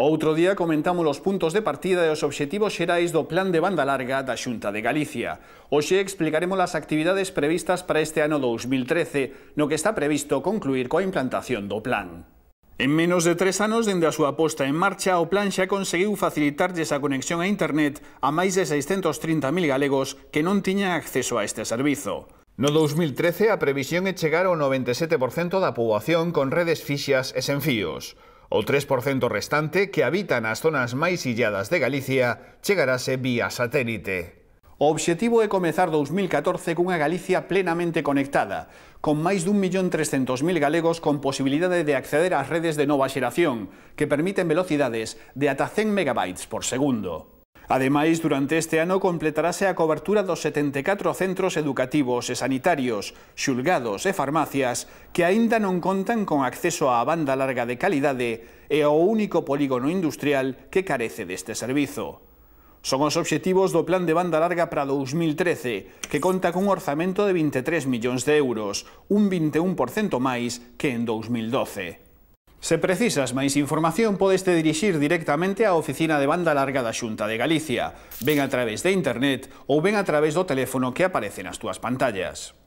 Outro día comentamos os puntos de partida e os obxectivos xerais do Plan de Banda Larga da Xunta de Galicia. Hoxe explicaremos as actividades previstas para este ano 2013, no que está previsto concluir coa implantación do plan. En menos de 3 anos dende a súa posta en marcha, o plan xa conseguiu facilitarlles a conexión a internet a máis de 630.000 galegos que non tiñan acceso a este servizo. No 2013, a previsión é chegar ao 97% da poboación con redes fixas e sen fíos. O 3% restante, que habita nas zonas máis illadas de Galicia, chegarase vía satélite. O obxectivo é comezar 2014 cunha Galicia plenamente conectada, con máis de 1.300.000 galegos con posibilidade de acceder ás redes de nova xeración, que permiten velocidades de ata 100 megabytes por segundo. Ademais, durante este ano completarase a cobertura dos 74 centros educativos e sanitarios, xulgados e farmacias que aínda non contan con acceso á banda larga de calidade e ao único polígono industrial que carece deste servizo. Son os obxectivos do Plan de Banda Larga para 2013, que conta cun orzamento de 23 millóns de euros, un 21% máis que en 2012. Se precisas máis información, podeste dirixir directamente á Oficina de Banda Larga da Xunta de Galicia, ben a través de internet ou ben a través do teléfono que aparece nas túas pantallas.